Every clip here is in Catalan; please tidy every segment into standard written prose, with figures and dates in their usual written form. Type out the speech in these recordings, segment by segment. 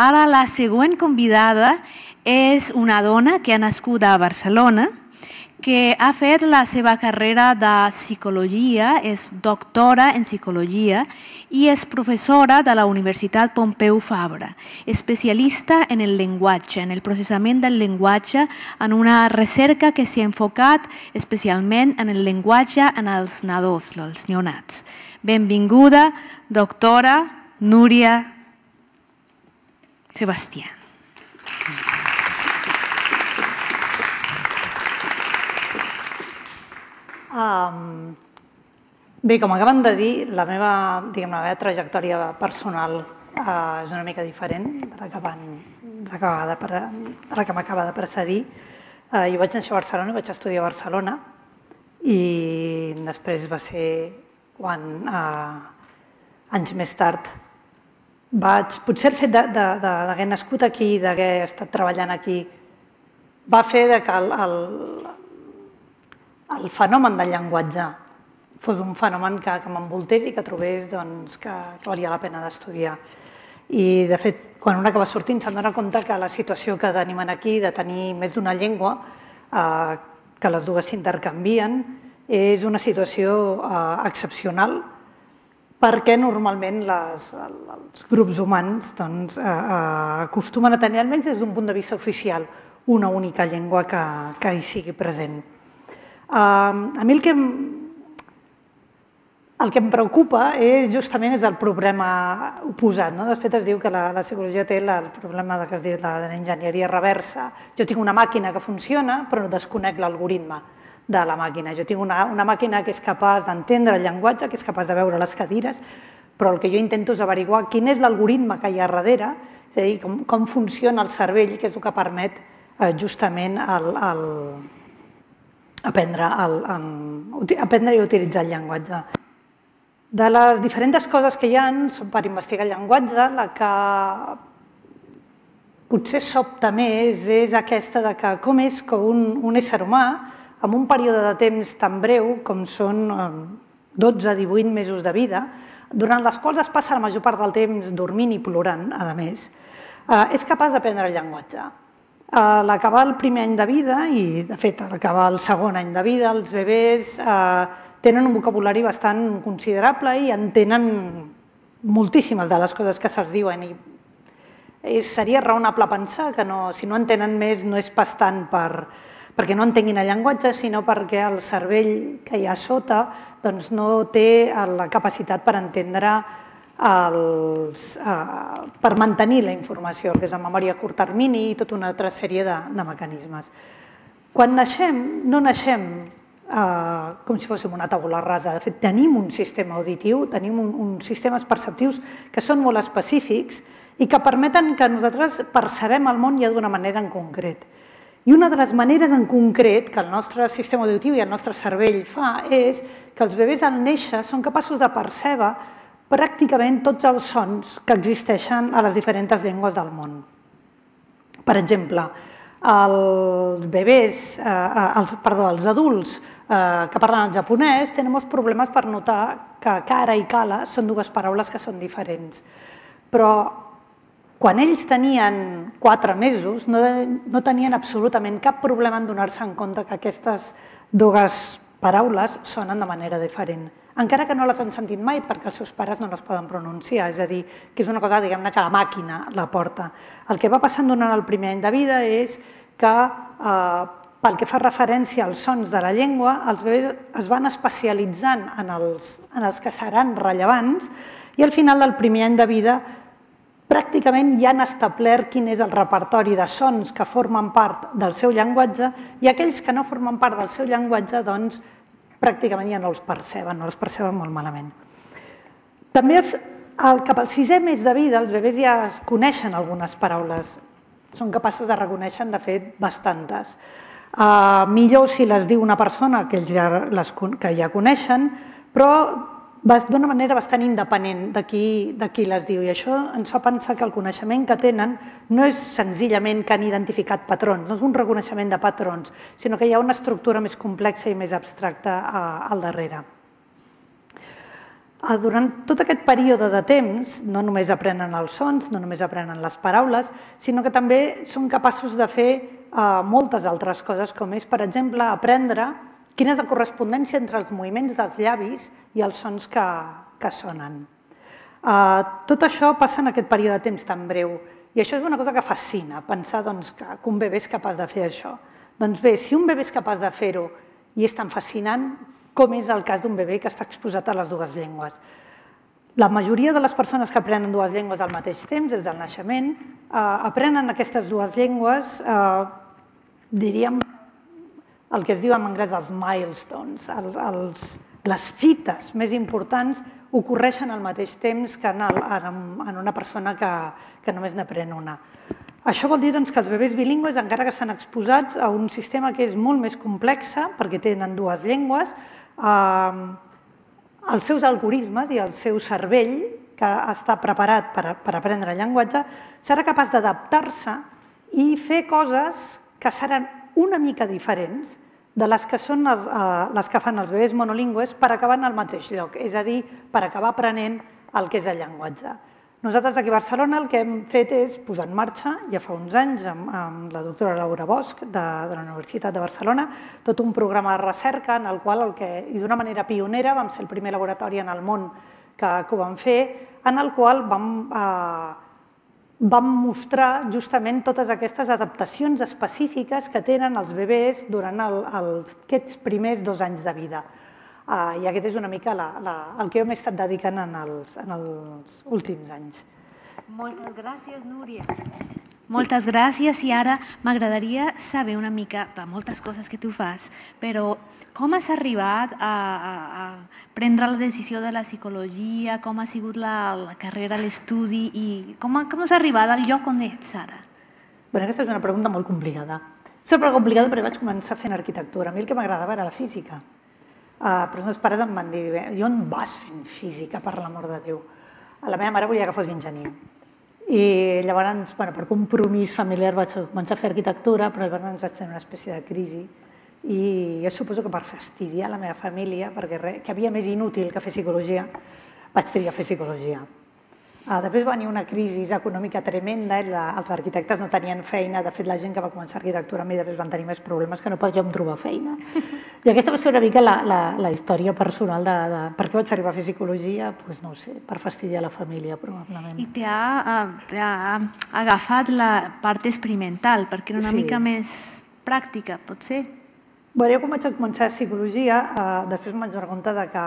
Ara la següent convidada és una dona que ha nascut a Barcelona, que ha fet la seva carrera de psicologia, és doctora en psicologia i és professora de la Universitat Pompeu Fabra, especialista en el llenguatge, en el processament del llenguatge, en una recerca que s'ha enfocat especialment en el llenguatge en els nadons, els neonats. Benvinguda, doctora Núria Sebastián. Bé, com acaben de dir, la meva trajectòria personal és una mica diferent de la que m'acaba de precedir. Jo vaig néixer a Barcelona i vaig estudiar a Barcelona i després va ser quan, anys més tard, potser el fet d'haver nascut aquí, d'haver estat treballant aquí, va fer que el fenomen del llenguatge fos un fenomen que m'envoltés i que trobés que valia la pena d'estudiar. I, de fet, quan un acaba sortint se'n dona compte que la situació que tenim aquí, de tenir més d'una llengua, que les dues s'intercanvien, és una situació excepcional perquè normalment els grups humans acostumen a tenir, almenys des d'un punt de vista oficial, una única llengua que hi sigui present. A mi el que em preocupa justament és el problema oposat. De fet, es diu que la psicologia té el problema que es diu l'enginyeria reversa. Jo tinc una màquina que funciona, però desconec l'algoritme de la màquina. Jo tinc una màquina que és capaç d'entendre el llenguatge, que és capaç de veure les cadires, però el que jo intento és averiguar quin és l'algoritme que hi ha darrere, és a dir, com funciona el cervell, que és el que permet justament aprendre i utilitzar el llenguatge. De les diferents coses que hi ha per investigar el llenguatge, la que potser sobta més és aquesta de com és que un ésser humà, en un període de temps tan breu com són 12-18 mesos de vida, durant les quals es passa la major part del temps dormint i plorant, a més, és capaç d'aprendre el llenguatge. A l'acabar el primer any de vida, i de fet a l'acabar el segon any de vida, els bebès tenen un vocabulari bastant considerable i entenen moltíssimes de les coses que se'ls diuen. I seria raonable pensar que si no entenen més no és pas tant perquè no entenguin el llenguatge, sinó perquè el cervell que hi ha sota no té la capacitat per entendre, per mantenir la informació, que és la memòria a curt termini i tota una altra sèrie de mecanismes. Quan naixem, no naixem com si fóssim una taula rasa. De fet, tenim un sistema auditiu, tenim uns sistemes perceptius que són molt específics i que permeten que nosaltres percebem el món ja d'una manera en concret. I una de les maneres en concret que el nostre sistema auditiu i el nostre cervell fa és que els bebès al néixer són capaços de percebre pràcticament tots els sons que existeixen a les diferents llengües del món. Per exemple, els adults que parlen el japonès tenen molts problemes per notar que cara i cala són dues paraules que són diferents. Però quan ells tenien 4 mesos no tenien absolutament cap problema en donar-se en compte que aquestes dues paraules sonen de manera diferent, encara que no les han sentit mai perquè els seus pares no les poden pronunciar, és a dir, que és una cosa, diguem-ne, que la màquina la porta. El que va passant durant el primer any de vida és que, pel que fa referència als sons de la llengua, els bebès es van especialitzant en els que seran rellevants i al final del primer any de vida pràcticament ja han establert quin és el repertori de sons que formen part del seu llenguatge i aquells que no formen part del seu llenguatge, doncs, pràcticament ja no els perceben molt malament. També cap al 6è mes de vida els bebès ja es coneixen algunes paraules, són capaços de reconèixer, de fet, bastantes. Millor si les diu una persona que ja coneixen, però d'una manera bastant independent de qui les diu. I això ens fa pensar que el coneixement que tenen no és senzillament que han identificat patrons, no és un reconeixement de patrons, sinó que hi ha una estructura més complexa i més abstracta al darrere. Durant tot aquest període de temps no només aprenen els sons, no només aprenen les paraules, sinó que també són capaços de fer moltes altres coses, com és, per exemple, aprendre quina és la correspondència entre els moviments dels llavis i els sons que sonen. Tot això passa en aquest període de temps tan breu i això és una cosa que fascina, pensar que un bebè és capaç de fer això. Doncs bé, si un bebè és capaç de fer-ho i és tan fascinant, com és el cas d'un bebè que està exposat a les dues llengües. La majoria de les persones que aprenen dues llengües al mateix temps, des del naixement, aprenen aquestes dues llengües, diríem, el que es diu en anglès els milestones, les fites més importants ocorreixen al mateix temps que en una persona que només n'aprèn una. Això vol dir que els bebès bilingües, encara que estan exposats a un sistema que és molt més complex, perquè tenen dues llengües, els seus algoritmes i el seu cervell, que està preparat per aprendre llenguatge, serà capaç d'adaptar-se i fer coses que seran una mica diferents de les que són les que fan els bebès monolingües per acabar en el mateix lloc, és a dir, per acabar aprenent el que és el llenguatge. Nosaltres aquí a Barcelona el que hem fet és posar en marxa, ja fa uns anys, amb la doctora Laura Bosch de la Universitat de Barcelona, tot un programa de recerca en el qual, i d'una manera pionera, vam ser el primer laboratori en el món que ho vam fer, en el qual vam mostrar justament totes aquestes adaptacions específiques que tenen els bebès durant aquests primers 2 anys de vida. I aquest és una mica el que jo m'he estat dedicant en els últims anys. Moltes gràcies, Núria. Moltes gràcies i ara m'agradaria saber una mica de moltes coses que tu fas, però com has arribat a prendre la decisió de la psicologia, com ha sigut la carrera, l'estudi i com has arribat al lloc on ets ara? Aquesta és una pregunta molt complicada. És una pregunta complicada perquè vaig començar fent arquitectura. A mi el que m'agradava era la física. Però els meus pares em van dir, i on vas fent física, per l'amor de Déu? La meva mare volia que fos enginyer. I llavors, per compromís familiar, vaig començar a fer arquitectura, però llavors vaig tenir una espècie de crisi. I jo suposo que per fastidiar la meva família, perquè que havia més inútil que fer psicologia, vaig triar a fer psicologia. Després va venir una crisi econòmica tremenda, els arquitectes no tenien feina, de fet la gent que va començar arquitectura a mi després van tenir més problemes que no podíem trobar feina. I aquesta va ser una mica la història personal de per què vaig arribar a fer psicologia, doncs no ho sé, per fastidiar la família probablement. I t'ha agafat la part experimental, perquè era una mica més pràctica, potser? Jo quan vaig començar psicologia, després em vaig donar compte que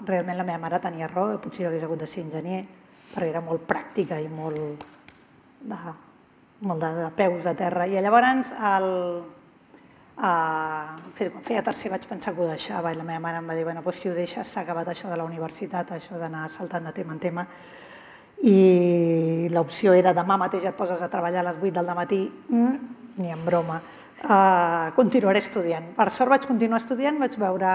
realment la meva mare tenia raó, potser jo hagués hagut de ser enginyer, perquè era molt pràctica i molt de peus a terra. I llavors, quan feia tercer vaig pensar que ho deixava i la meva mare em va dir, si ho deixes s'ha acabat això de la universitat, això d'anar saltant de tema en tema. I l'opció era demà mateix et poses a treballar a les 8 del matí, ni en broma. Continuaré estudiant. Per sort vaig continuar estudiant, vaig veure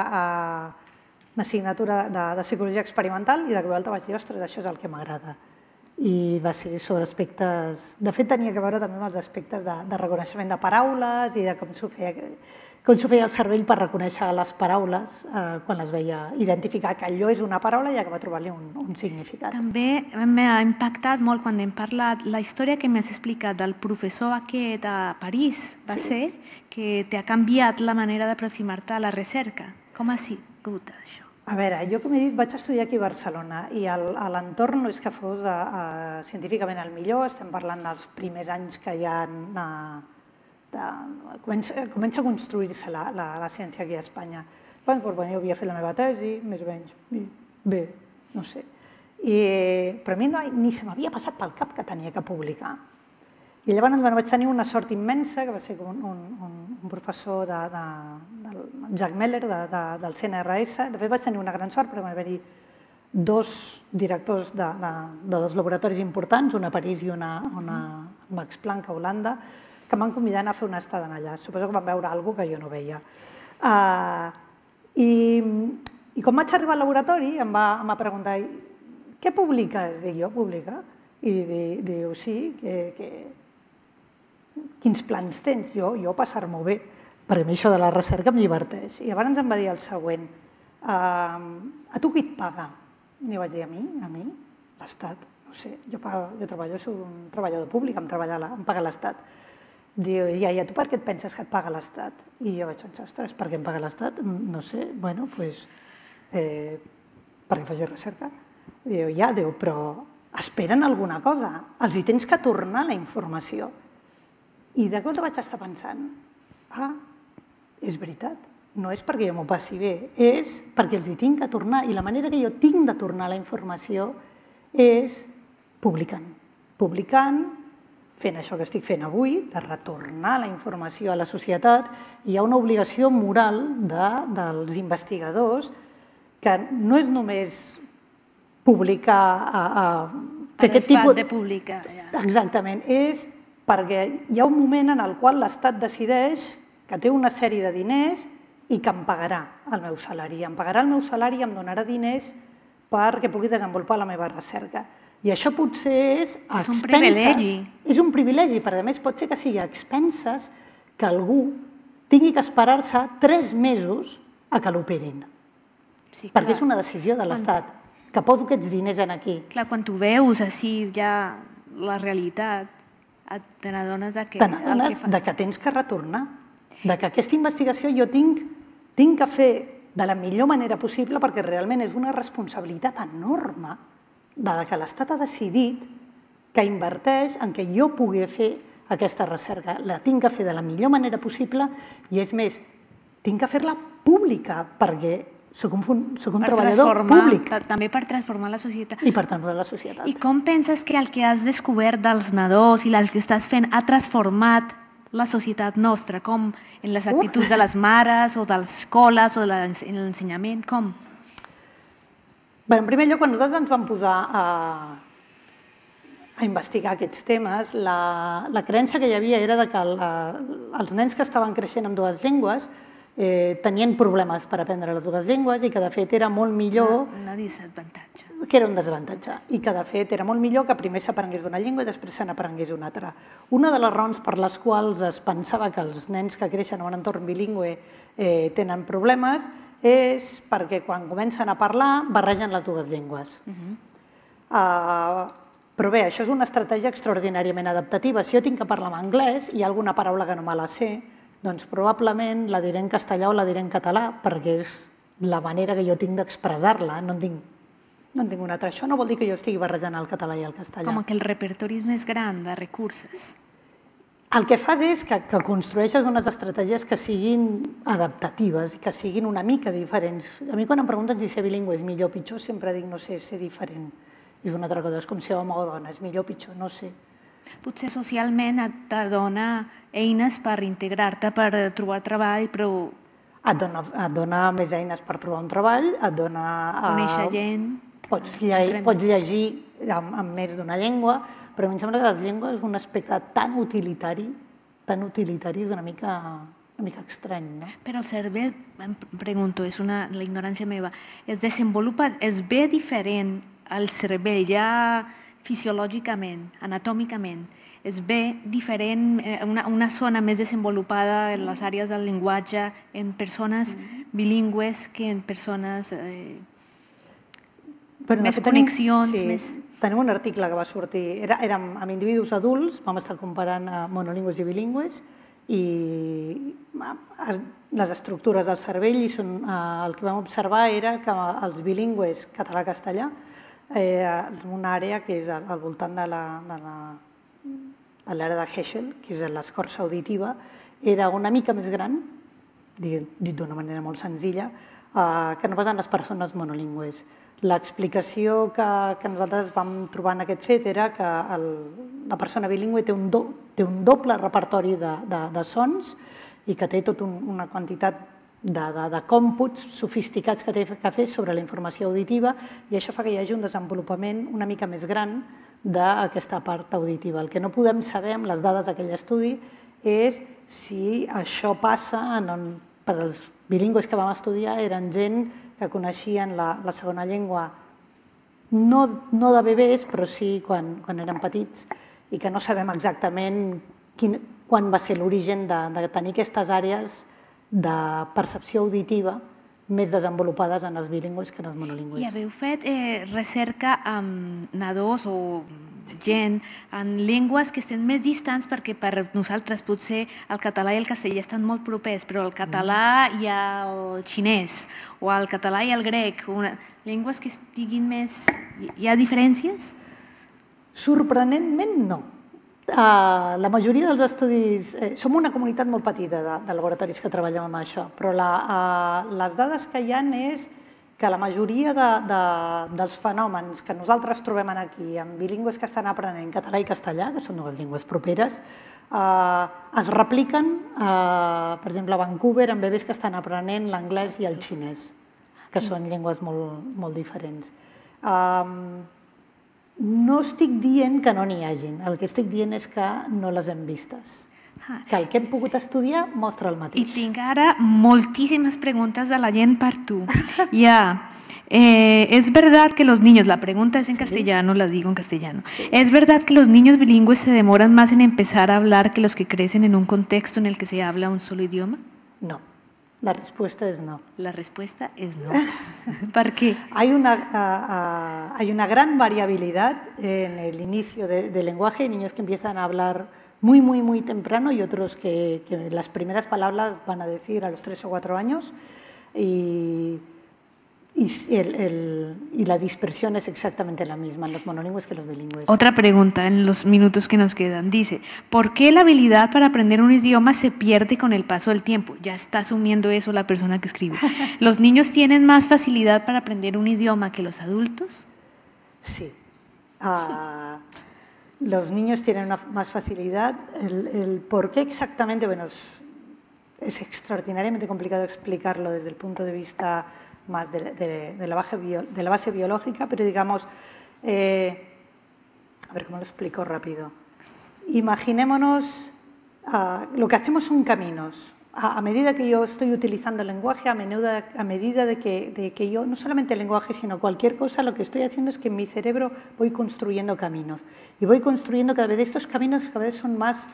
una assignatura de psicologia experimental i de cop i volta vaig dir, ostres, això és el que m'agrada. I va ser sobre aspectes... De fet, tenia que veure també amb els aspectes de reconeixement de paraules i de com s'ho feia el cervell per reconèixer les paraules quan les veia, identificar que allò és una paraula i acabar trobar-li un significat. També m'ha impactat molt quan hem parlat la història que m'has explicat del professor aquest a París, va ser, que t'ha canviat la manera d'aproximar-te a la recerca. Com ha sigut això? A veure, jo com he dit vaig estudiar aquí a Barcelona i l'entorn no és que fos científicament el millor, estem parlant dels primers anys que hi ha... Comença a construir-se la ciència aquí a Espanya. Jo havia fet la meva tesi, més o menys, bé, no sé. Però a mi ni se m'havia passat pel cap que tenia que publicar. I llavors vaig tenir una sort immensa, que va ser un professor del Jacques Meller, del CNRS. De fet, vaig tenir una gran sort perquè van haver-hi 2 directors de 2 laboratoris importants, un a París i un a Max Planck, a Holanda, que em van convidar a anar a fer una estada allà. Suposo que van veure alguna cosa que jo no veia. I quan vaig arribar al laboratori em va preguntar què publiques? Dic, jo publica? I diu, sí, quins plans tens? Jo passar-m'ho bé, perquè a mi això de la recerca em lliberteix. I llavors em va dir el següent, a tu qui et paga? I vaig dir, a mi, l'Estat, no sé, jo treballo, soc un treballador públic, em paga l'Estat. Diu, i a tu per què et penses que et paga l'Estat? I jo vaig pensar, ostres, per què em paga l'Estat? No sé, bueno, doncs, perquè faig recerca. Diu, ja, però esperen alguna cosa, els hi tens que tornar la informació. I de cop vaig estar pensant, és veritat, no és perquè jo m'ho passi bé, és perquè els hi tinc que tornar, i la manera que jo tinc de tornar la informació és publicant, fent això que estic fent avui, de retornar la informació a la societat. Hi ha una obligació moral dels investigadors que no és només publicar... Per el fet de publicar. Exactament, és perquè hi ha un moment en el qual l'Estat decideix que té una sèrie de diners i que em pagarà el meu salari. Em pagarà el meu salari i em donarà diners perquè pugui desenvolupar la meva recerca. I això potser és a expenses. És un privilegi. És un privilegi, però a més pot ser que sigui a expenses que algú tingui que esperar-se 3 mesos a que l'operin. Perquè és una decisió de l'Estat, que poso aquests diners aquí. Clar, quan tu veus així ja la realitat, te n'adones que tens que retornar, que aquesta investigació jo tinc que fer de la millor manera possible perquè realment és una responsabilitat enorme que l'Estat ha decidit que inverteix en què jo pugui fer aquesta recerca. La tinc que fer de la millor manera possible i, és més, tinc que fer-la pública perquè soc un treballador públic. També per transformar la societat. I per transformar la societat. I com penses que el que has descobert dels nadons i el que estàs fent ha transformat la societat nostra? Com en les actituds de les mares o de les escoles o en l'ensenyament? Com? En primer lloc, quan nosaltres ens vam posar a investigar aquests temes, la creença que hi havia era que els nens que estaven creixent amb 2 llengües tenien problemes per aprendre les 2 llengües i que de fet era molt millor... Un desavantatge. Que era un desavantatge i que de fet era molt millor que primer s'aprengués una llengua i després se n'aprengués una altra. Una de les raons per les quals es pensava que els nens que creixen en un entorn bilingüe tenen problemes és perquè quan comencen a parlar barregen les 2 llengües. Però bé, això és una estratègia extraordinàriament adaptativa. Si jo tinc que parlar en anglès i hi ha alguna paraula que no me la sé, doncs probablement la diré en castellà o la diré en català, perquè és la manera que jo tinc d'expressar-la, no en tinc una altra. Això no vol dir que jo estigui barrejant el català i el castellà. Com que el repertori és més gran de recursos. El que fas és que construeixes unes estratègies que siguin adaptatives i que siguin una mica diferents. A mi quan em pregunten si ser bilingüe és millor o pitjor, sempre dic no sé, ser diferent. És una altra cosa, és com ser home o dona, és millor o pitjor, no sé. Potser socialment et dona eines per integrar-te, per trobar treball, però... Et dona més eines per trobar un treball, et dona... Conèixer gent... Pots llegir en més d'una llengua, però a mi em sembla que la llengua és un aspecte tan utilitari, és una mica estrany, no? Però el cervell, em pregunto, és la ignorància meva, es desenvolupa, es ve diferent al cervell ja fisiològicament, anatòmicament, es ve diferent, una zona més desenvolupada en les àrees del llenguatge en persones bilingües que en persones... més connexions... Tenim un article que va sortir, érem amb individus adults, vam estar comparant monolingües i bilingües i les estructures del cervell i el que vam observar era que els bilingües català-castellà una àrea que és al voltant de l'àrea de Heschel, que és l'escorça auditiva, era una mica més gran, dit d'una manera molt senzilla, que no pas en les persones monolingües. L'explicació que nosaltres vam trobar en aquest fet era que la persona bilingüe té un doble repertori de sons i que té tota una quantitat de còmputs sofisticats que té que fer sobre la informació auditiva i això fa que hi hagi un desenvolupament una mica més gran d'aquesta part auditiva. El que no podem saber amb les dades d'aquell estudi és si això passa per als bilingües que vam estudiar, eren gent que coneixien la segona llengua no de bebès, però sí quan eren petits i que no sabem exactament quan va ser l'origen de tenir aquestes àrees de percepció auditiva més desenvolupades en els bilingües que en els monolingües. I haveu fet recerca amb nadons o gent en llengües que estan més distants, perquè per nosaltres potser el català i el castellà estan molt propers, però el català i el xinès o el català i el grec, llengües que estiguin més... Hi ha diferències? Sorprenentment no. La majoria dels estudis... Som una comunitat molt petita de laboratoris que treballem amb això, però les dades que hi ha és que la majoria dels fenòmens que nosaltres trobem aquí en bilingües que estan aprenent català i castellà, que són dues llengües properes, es repliquen, per exemple, a Vancouver, amb bebès que estan aprenent l'anglès i el xinès, que són llengües molt diferents. No estic dient que no n'hi hagin, el que estic dient és que no les hem vistes. Que el que hem pogut estudiar mostra el mateix. I tinc ara moltíssimas preguntas de la gent per tu. Ya, es verdad que los niños, la pregunta es en castellano, la digo en castellano. ¿Es verdad que los niños bilingües se demoran más en empezar a hablar que los que crecen en un contexto en el que se habla un solo idioma? No. La respuesta es no. La respuesta es no. ¿Por qué? Hay una gran variabilidad en el inicio del lenguaje. Hay niños que empiezan a hablar muy temprano y otros que las primeras palabras van a decir a los 3 o 4 años y la dispersión es exactamente la misma en los monolingües que en los bilingües. Otra pregunta en los minutos que nos quedan. Dice, ¿por qué la habilidad para aprender un idioma se pierde con el paso del tiempo? Ya está asumiendo eso la persona que escribe. ¿Los niños tienen más facilidad para aprender un idioma que los adultos? Sí. Los niños tienen más facilidad. El por qué exactamente, bueno, es extraordinariamente complicado explicarlo desde el punto de vista más de la base biológica, pero digamos, a ver cómo lo explico rápido. Imaginémonos, lo que hacemos son caminos. A medida que yo estoy utilizando el lenguaje, a medida de que yo, no solamente el lenguaje, sino cualquier cosa, lo que estoy haciendo es que en mi cerebro voy construyendo caminos. Y voy construyendo cada vez, estos caminos cada vez son más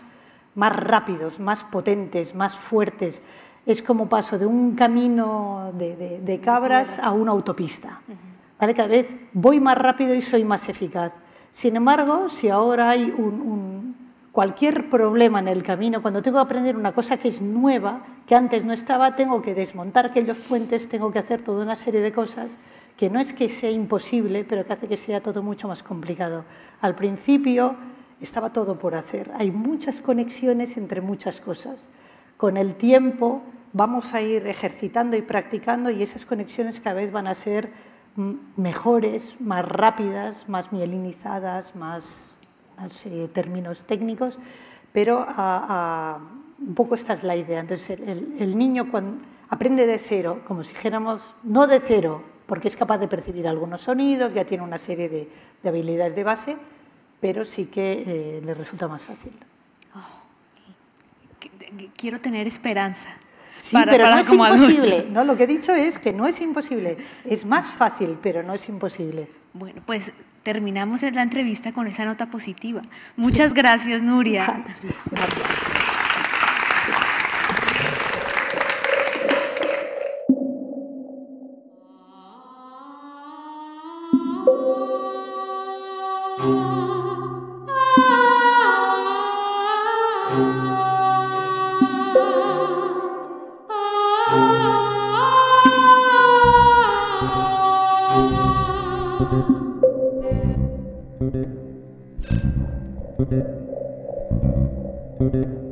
rápidos, más potentes, más fuertes. Es como paso de un camino de cabras a una autopista. ¿Vale? Cada vez voy más rápido y soy más eficaz. Sin embargo, si ahora hay cualquier problema en el camino, cuando tengo que aprender una cosa que es nueva, que antes no estaba, tengo que desmontar aquellos puentes, tengo que hacer toda una serie de cosas que no es que sea imposible, pero que hace que sea todo mucho más complicado. Al principio estaba todo por hacer. Hay muchas conexiones entre muchas cosas. Con el tiempo vamos a ir ejercitando y practicando y esas conexiones cada vez van a ser mejores, más rápidas, más mielinizadas, más términos técnicos, pero un poco esta es la idea. Entonces el niño cuando aprende de cero, como si dijéramos, no de cero, porque es capaz de percibir algunos sonidos, ya tiene una serie de habilidades de base, pero sí que le resulta más fácil. Quiero tener esperanza. Sí, pero no es imposible. No, lo que he dicho es que no es imposible. Es más fácil, pero no es imposible. Bueno, pues terminamos la entrevista con esa nota positiva. Muchas gracias, Nuria. Gracias. Thank you.